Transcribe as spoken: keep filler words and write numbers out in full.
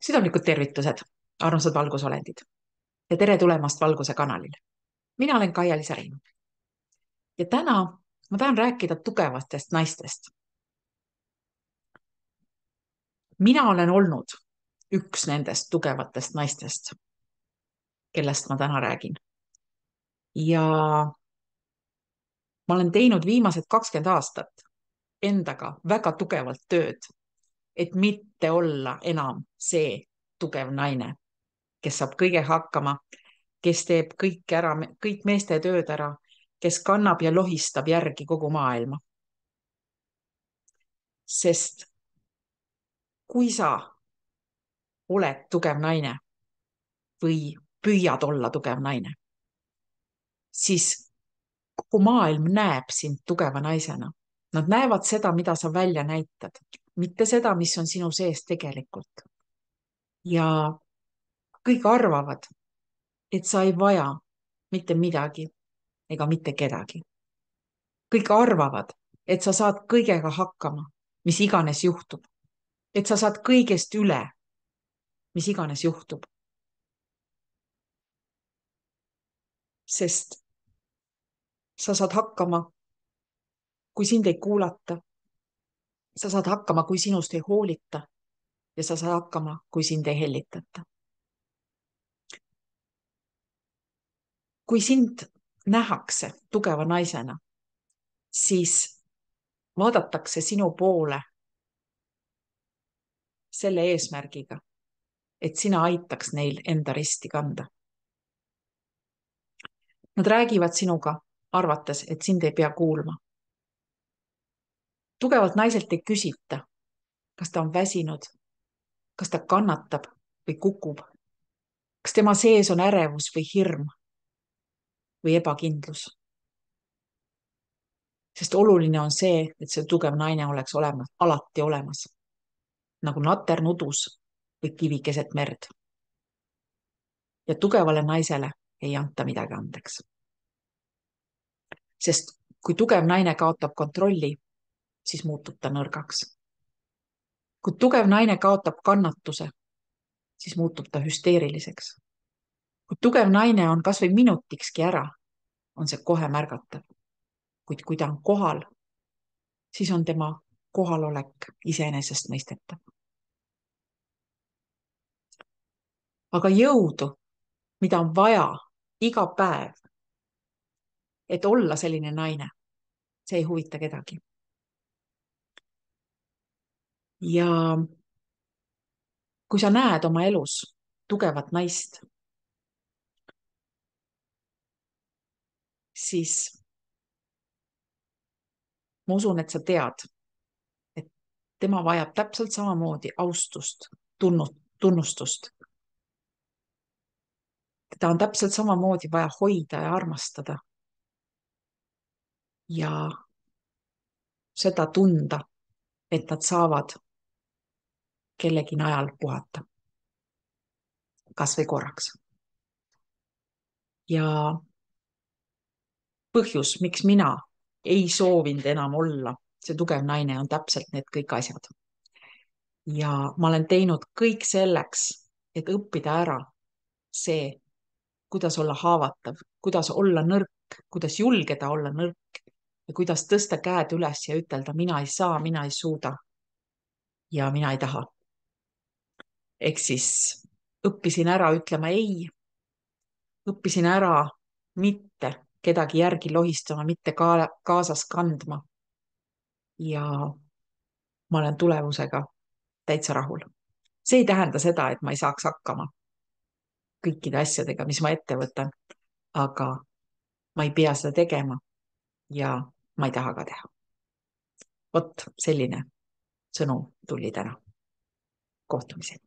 Südamlikud tervitused, armsad valgusolendid ja tere tulemast Valguse kanalile. Mina olen Kaia-Liisa Rein ja täna ma tahan rääkida tugevatest naistest. Mina olen olnud üks nendest tugevatest naistest, kellest ma täna räägin. Ja ma olen teinud viimased kakskümmend aastat endaga väga tugevalt tööd, et mitte olla enam see tugev naine, kes saab kõige hakkama, kes teeb kõik ära, kõik meeste tööd ära, kes kannab ja lohistab järgi kogu maailma. Sest kui sa oled tugev naine või püüad olla tugev naine, siis kogu maailm näeb sind tugeva naisena. Nad näevad seda, mida sa välja näitad, mitte seda, mis on sinu sees tegelikult. Ja kõik arvavad, et sa ei vaja mitte midagi ega mitte kedagi. Kõik arvavad, et sa saad kõigega hakkama, mis iganes juhtub. Et sa saad kõigest üle, mis iganes juhtub. Sest sa saad hakkama, kui sind ei kuulata. Sa saad hakkama, kui sinust ei hoolita. Ja sa saad hakkama, kui sind ei hellitata. Kui sind nähakse tugeva naisena, siis vaadatakse sinu poole selle eesmärgiga, et sina aitaks neil enda risti kanda. Nad räägivad sinuga, arvates, et sind ei pea kuulma. Tugevalt naiselt ei küsita, kas ta on väsinud, kas ta kannatab või kukub, kas tema sees on ärevus või hirm või ebakindlus. Sest oluline on see, et see tugev naine oleks olemas, alati olemas, nagu nater nudus või kivi keset merd. Ja tugevale naisele ei anta midagi andeks. Sest kui tugev naine kaotab kontrolli, siis muutub ta nõrgaks. Kui tugev naine kaotab kannatuse, siis muutub ta hüsteeriliseks. Kui tugev naine on kas või minutikski ära, on see kohe märgatav. Kuid kui ta on kohal, siis on tema kohalolek iseenesest mõistetav. Aga jõudu, mida on vaja iga päev, et olla selline naine, see ei huvita kedagi. Ja kui sa näed oma elus tugevat naist, siis ma usun, et sa tead, et tema vajab täpselt samamoodi austust, tunnustust. Teda on täpselt samamoodi vaja hoida ja armastada. Ja seda tunda, et nad saavad kellegi najal puhata. Kas või korraks. Ja põhjus, miks mina ei soovinud enam olla see tugev naine, on täpselt need kõik asjad. Ja ma olen teinud kõik selleks, et õppida ära see, kuidas olla haavatav, kuidas olla nõrk, kuidas julgeda olla nõrk ja kuidas tõsta käed üles ja ütelda, mina ei saa, mina ei suuda ja mina ei taha. Ehk siis õppisin ära ütlema ei, õppisin ära mitte kedagi järgi lohistama, mitte kaasas kandma. Ja ma olen tulemusega täitsa rahul. See ei tähenda seda, et ma ei saaks hakkama kõikide asjadega, mis ma ette võtan, aga ma ei pea seda tegema ja ma ei taha ka teha. Vot selline sõnum tuli täna. Kohtumiseni.